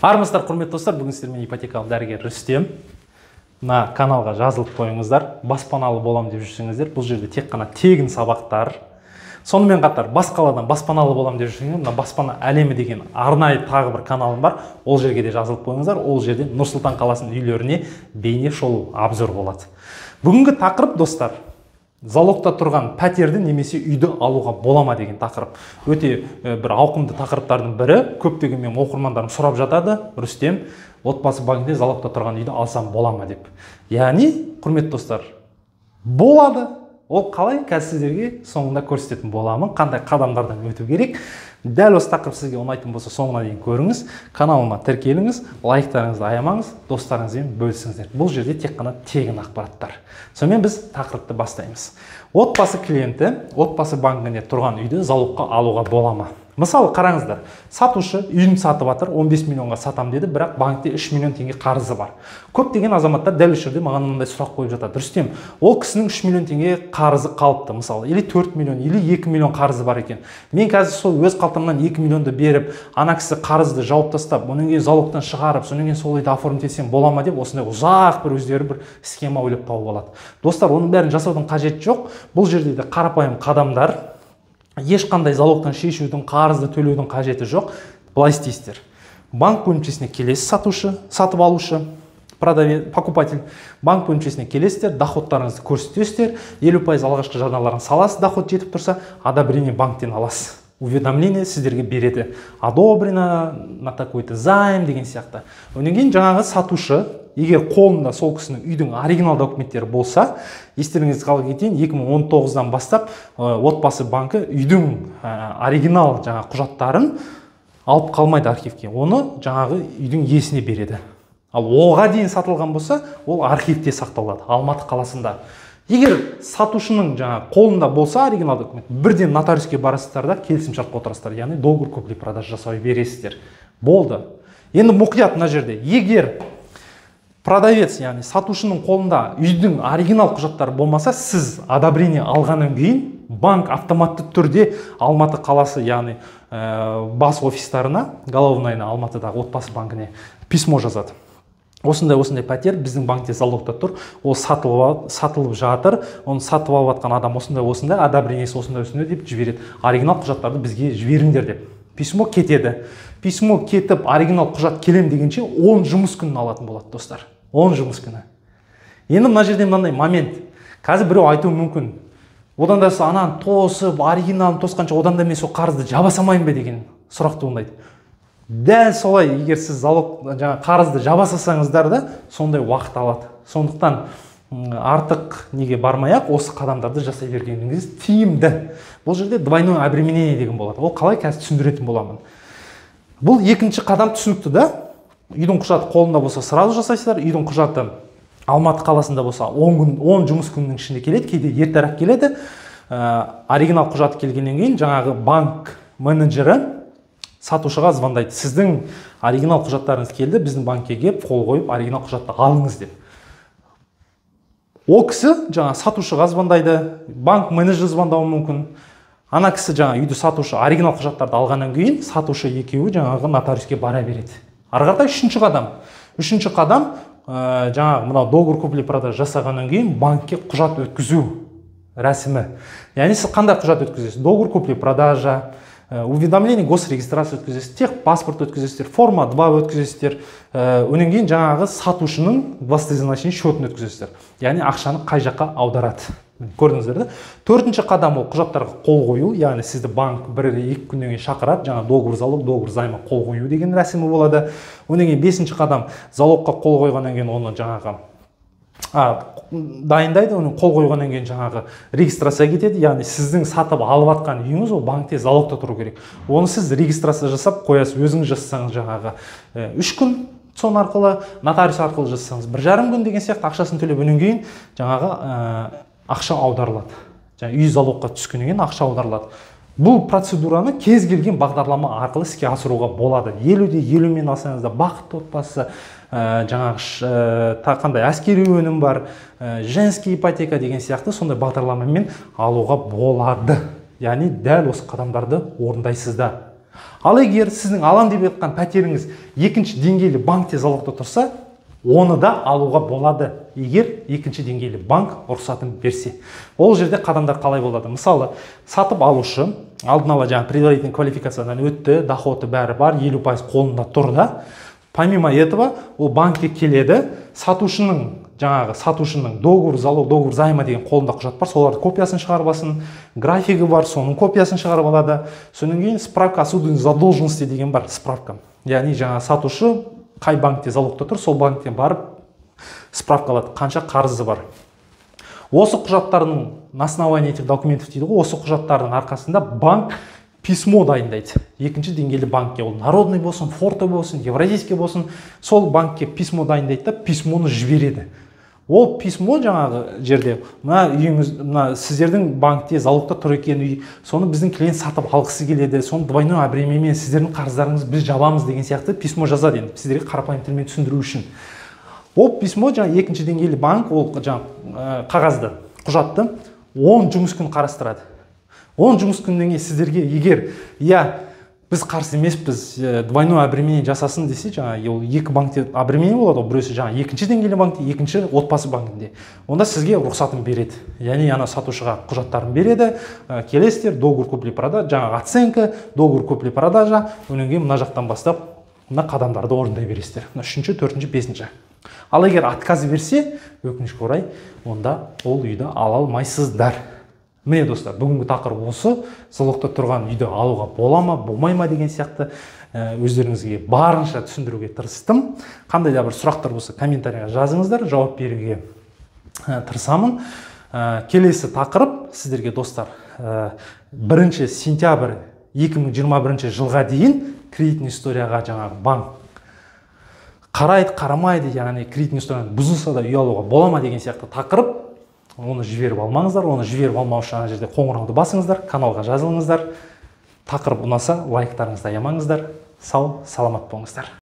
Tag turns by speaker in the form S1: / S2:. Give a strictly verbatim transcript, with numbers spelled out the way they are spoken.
S1: Армысыздар, құрметті достар, бүгін сіздермен ипотекалық дәрігер Рүстем. Мына каналға жазылып қойыңыздар. Баспаналы болам деп жүрсеңіздер, бұл жерде тек қана тегін сабақтар. Сонымен қатар бас қаладан баспаналы болам деп жүрсеңіздер, мына баспана әлемі деген арнайы тағы бір каналым бар. Ол жерге де жазылып қойыңыздар. Ол жерде Нұр Сұлтан қаласының үйлеріне бейне шолу обзор болады. Бүгінгі тақырып, достар, залогта тұрған пәтерді немесе үйді алуға болама деген тақырып. Өте бір ауқымды тақырыптардың бірі. Көптеген мен оқырмандарым сұрап жатады: Рүстем, отбасы банкінде залогта тұрған үйді алсам болама деп. Яғни, құрметті достар, болады. Ол қалай? Қазір сіздерге соңында көрсететін боламын. Қандай қадамдардан өту керек? Дәл осы тақырып сізге ұнайтын болса, соңына дейін көріңіз. Каналыма тіркеліңіз, лайктарыңызды аямаңыз, достарыңызбен бөлісіңіздер. Бұл жерде тек қана тегін ақпараттар. Сонымен біз тақырыпты бастаймыз. Отбасы клиенті отбасы банкінде тұрған үйді залогқа алуға болама? Мысалы, қараңыздар, сатушы үйін сатып жатыр, он бес миллионға сатам деді, бірақ банкте үш миллион теңге қарызы бар. Көптеген азаматтар дәл осы жерде маған мынандай сұрақ қойып жатады: Рүстем, ол кісінің үш миллион теңге қарызы қалыпты, мысалы, или төрт миллион, или екі миллион қарызы бар екен. Мен қазір сол өз қалтамнан екі миллионды беріп, ана кісі қарызды жауып тастап, онан кейін залогтан шығарып, сонан кейін сол үйді оформить етсем болама деп, осындай ұзақ бір өздері бір схема ойлап тауып алады. Достар, оның бәрін жасаудың қажеті жоқ. Бұл жерде де қарапайым қадамдар. Ешқандай залогтан шешудің, қарызды төлеудің қажеті жоқ. Былай істейсіздер. Банк бөлімшесіне келесіз, сатушы, сатып алушы, продавец, покупатель. Банк бөлімшесіне келесіздер, доходтарыңызды көрсетесіздер, елу пайыз алғашқы жарналарын саласыз, доход жетіп тұрса, одобрение банктен аласыз. Уведомление сіздерге береді. Одобрено на такой-то займ деген сияқты. Онан кейін жаңағы сатушы, егер қолында сол кісінің үйдің оригинал документтері болса, естеріңізге сала кетейін, екі мың он тоғыздан бастап отбасы банкі үйдің оригинал жаңа құжаттарын алып қалмайды архивке. Оны жаңағы үйдің иесіне береді. Ал оған дейін сатылған болса, ол архивте сақталады, Алматы қаласында. Егер сатушының жаңа қолында болса оригинал документ, бірден нотариуске барасыздар да келісімшартқа отырасыздар, яғни договор купли-продаж жасай бересіздер. Болды. Енді мұқият мына жерде, егер продавец, яғни сатушының қолында үйдің оригинал құжаттары болмаса, сіз одобрение алғаннан кейін банк автоматты түрде Алматы қаласы, яғни бас офистарына, головнайына, Алматыдағы отбасы банкіне письмо жазады. Осындай осындай пәтер біздің банкте залогта тұр, ол сатылып, сатылып жатыр, оны сатып алып жатқан адам осындай осындай, одобрениесі осындай осындай деп жібереді. Оригинал құжаттарды бізге жіберіңдер деп. Письмо кетеді. Письмо кетіп, оригинал құжат келем дегенше он жұмыс күнін алатын болады, достар. он жұмыс күні. Енді мына жерде мынандай момент. Қазір біреу айтуы мүмкін: одан да ананы тосып, оригиналын тосқанша одан да мен сол қарызды жаба салмайын ба деген сұрақ туындайды. Дәл солай, егер сіз залог жаңа қарызды жаба салсаңыздар да сондай уақыт алады. Сондықтан артық неге бармай-ақ осы қадамдарды жасай бергеніңіз тиімді. Бұл жерде двойное обременение деген болады. Ол қалай, қазір түсіндіретін боламын. Бұл екінші қадам түсінікті да. Үйдің құжаты қолында болса, сразу жасайсыздар. Үйдің құжаты Алматы қаласында болса, он күн, он жұмыс күнінің ішінде келеді, кейде ертерек келеді. Оригинал құжаты келгеннен кейін жаңағы банк менеджері сатушыға звондайды: сіздің оригинал құжаттарыңыз келді, біздің банкке келіп, қол қойып, оригинал құжатты алыңыз деп. Ол кісі жаңа сатушыға звондайды, банк менеджері звондауы мүмкін. Ана кісі жаңа үйді сатушы оригинал құжаттарды алғаннан кейін, сатушы екеуі жаңағы нотариуске бара береді. Ары қаратай үшінші қадам. Үшінші қадам жаңағы мынау договор купли-продаж жасағаннан кейін банкке құжат өткізу рәсімі. Яғни сіз қандай құжат өткізесіз? Договор купли-продажа, уведомление госрегистрация өткізесіздер, тех паспорт өткізесіздер, форма два өткізесіздер, онан кейін жаңағы сатушының властызначение счетын өткізесіздер. Яғни ақшаны қай жаққа аударады. Көрдіңіздер да? Төртінші қадам ол құжаттарға қол қою, яғни сізді банк бір-екі күннен кейін шақырады, жаңа договор залог, договор займа қол қою деген рәсімі болады. Онан кейін бесінші қадам залогқа қол қойғаннан кейін оны жаңағы дайындайды, оны қол қойғаннан кейін жаңағы регистрация кетеді, яғни сіздің сатып алып жатқан үйіңіз ол банкте залогта тұру керек. Оны сіз регистрация жасап қоясыз, өзіңіз жасасаңыз жаңағы үш күн, сон арқылы, нотариус арқылы жасасаңыз бір жарым күн деген сияқты ақшасын төлеп, өнен кейін жаңағы ақша аударылады. Жаңа үй залогқа түскеннен кейін ақша аударылады. Бұл процедураны кез келген бағдарлама арқылы іске асыруға болады. елуде елумен алсаңыз да бақытты отбасы, жаңағы қандай әскери өнім бар, женский ипотека деген сияқты сондай бағдарламамен алуға болады. Яғни дәл осы қадамдарды орындайсыздар. Ал егер сіздің алам деп жатқан пәтеріңіз екінші деңгейлі банкте залогта тұрса, оны да алуға болады, егер екінші деңгейлі банк рұқсатын берсе. Ол жерде қадамдар қалай болады? Мысалы, сатып алушы алдын ала жаңа предварительный квалификациядан өтті, доходы бәрі бар, елу пайыз қолында тұр да. Помимо этого, ол банкке келеді, сатушының жаңағы сатушының договор залог, договор займа деген қолында құжат бар, солардың копиясын шығарып алсын, графигі бар, соның копиясын шығарып алады. Содан кейін справка о судебной задолженности деген бар, справка. Яғни жаңа сатушы қай банкте залогта тұр, сол банктен барып справка алады, қанша қарызы бар. Осы құжаттардың на основании этих документов дейді ғой, осы құжаттардың арқасында банк письмо дайындайды. Екінші деңгейлі банкке, ол народный болсын, форте болсын, евразийский болсын, сол банкке письмо дайындайды да, письмоны жібереді. Ол письмо жаңағы жерде, мына үйіңіз, мына сіздердің банкте залогта тұр екен үй, соны біздің клиент сатып алғысы келеді, соны двойной обременмен сіздердің қарыздарыңызды біз жабамыз деген сияқты письмо жазады енді, сіздерге қарапайым тілмен түсіндіру үшін. Ол письмо жаңа екінші деңгейлі банк, ол жаңа қағазды, құжатты он жұмыс күн қарастырады. он жұмыс күннен кейін сіздерге егер, я біз қарсы емеспіз, двойной обременение жасасын десе, жаңа ол екі банкте обременение болады, біреусі жаңа екінші деңгейлі банкте, екінші отбасы банкінде. Онда сізге рұқсатын береді. Яғни ана сатушыға құжаттарын береді, келесіздер, договор купли-продажа, жаңа оценка, договор купли-продажа, онан кейін мына жақтан бастап мына қадамдарды орындай бересіздер. Үшінші, төртінші, бесінші. Ал егер отказ берсе, өкінішке орай, онда ол үйді ала алмайсыздар. Міне достар, бүгінгі тақырып осы, залогта тұрған үйді алуға бола ма, болмай ма деген сияқты өздеріңізге барынша түсіндіруге тырыстым. Қандай да бір сұрақтар болса, комментарийға жазыңыздар, жауап беруге тырысамын. Келесі тақырып сіздерге достар, бірінші сентябрь екі мың жиырма бірінші жылға дейін кредитный историяға жаңағы банк қарайды, қарамайды, яғни кредитный историяны бұзылса да үй алуға бола ма деген сияқты тақырып. Оны жіберіп алмаңыздар, оны жіберіп алмау үшін ана жерде қоңырауды басыңыздар, каналға жазылыңыздар. Тақырып ұнаса, лайктарыңызды аямаңыздар. Сау, саламат болыңыздар.